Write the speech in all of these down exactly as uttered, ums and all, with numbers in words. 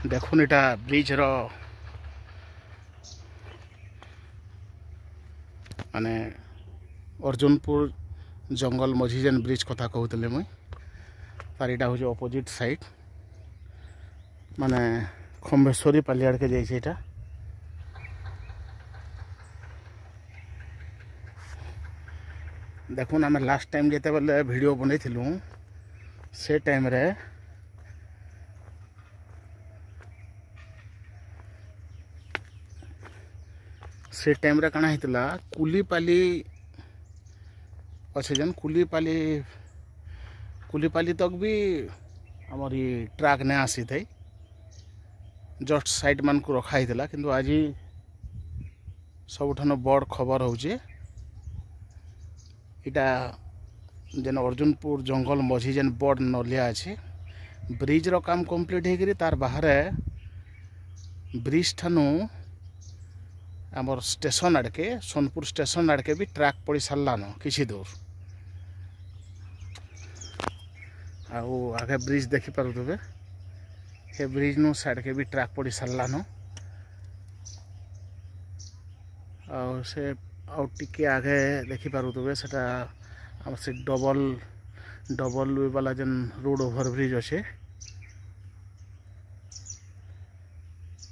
ଦେଖୁନ୍ ଏଇଟା ବ୍ରିଜ୍ର ମାନେ ଅର୍ଜୁନପୁର ଜଙ୍ଗଲ ମଝି ଯେନ୍ ବ୍ରିଜ୍ କଥା କହୁଥିଲି ମୁଇଁ, ତାର ଏଇଟା ହେଉଛି ଅପୋଜିଟ୍ ସାଇଡ୍, ମାନେ ଖମ୍ବେଶ୍ୱରୀ ପାଲି ଆଡ଼କେ ଯାଇଛି ଏଇଟା। ଦେଖୁନ୍ ଆମେ ଲାଷ୍ଟ ଟାଇମ୍ ଯେତେବେଲେ ଭିଡ଼ିଓ ବନେଇଥିଲୁ ସେ ଟାଇମ୍ରେ ସେ ଟାଇମ୍ରେ କାଣା ହେଇଥିଲା, କୁଲିପାଲି ଅଛେ ଯେନ୍ କୁଲିପାଲି କୁଲିପାଲି ତକ୍ ବି ଆମର ଇ ଟ୍ରାକ୍ ନାଇଁ ଆସିଥାଇ, ଜଷ୍ଟ ସାଇଡ଼୍ ମାନଙ୍କୁ ରଖା ହେଇଥିଲା। କିନ୍ତୁ ଆଜି ସବୁଠାନୁ ବଡ଼ ଖବର ହଉଛେ ଏଇଟା ଯେନ୍ ଅର୍ଜୁନପୁର ଜଙ୍ଗଲ ମଝି ଯେନ୍ ବଡ଼ ନଲିଆ ଅଛି, ବ୍ରିଜ୍ର କାମ କମ୍ପ୍ଲିଟ୍ ହେଇକିରି ତାର ବାହାରେ ବ୍ରିଜ୍ ଠାନୁ ଆମର ଷ୍ଟେସନ୍ ଆଡ଼କେ, ସୋନପୁର ଷ୍ଟେସନ୍ ଆଡ଼କେ ବି ଟ୍ରାକ୍ ପଡ଼ି ସାରିଲାନ କିଛି ଦୂର। ଆଉ ଆଗେ ବ୍ରିଜ୍ ଦେଖିପାରୁଥିବେ, ସେ ବ୍ରିଜ୍ ନୁ ସାଇଡ଼୍କେ ବି ଟ୍ରାକ୍ ପଡ଼ି ସାରିଲାନ। ଆଉ ସେ ଆଉ ଟିକେ ଆଗେ ଦେଖିପାରୁଥିବେ ସେଟା ଆମର ସେ ଡବଲ୍ ଡବଲ୍ ବାଲା ଯେନ୍ ରୋଡ଼ ଓଭର ବ୍ରିଜ୍ ଅଛେ,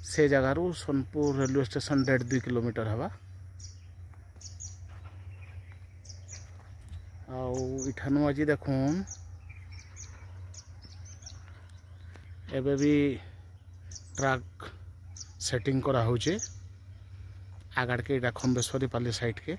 ସେ ଜାଗାରୁ ସୋନପୁର ରେଲୱେ ଷ୍ଟେସନ୍ ଦେଢ଼ ଦୁଇ କିଲୋମିଟର ହେବା। ଆଉ ଇଠାନୁ ଆଜି ଦେଖୁନ୍ ଏବେ ବି ଟ୍ରାକ୍ ସେଟିଂ କରାହଉଛେ ଆଗାଡ଼କେ, ଏଇଟା ଖମ୍ବେଶ୍ୱରୀ ପାଲି ସାଇଡ଼୍କେ।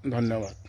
ଧନ୍ୟବାଦ।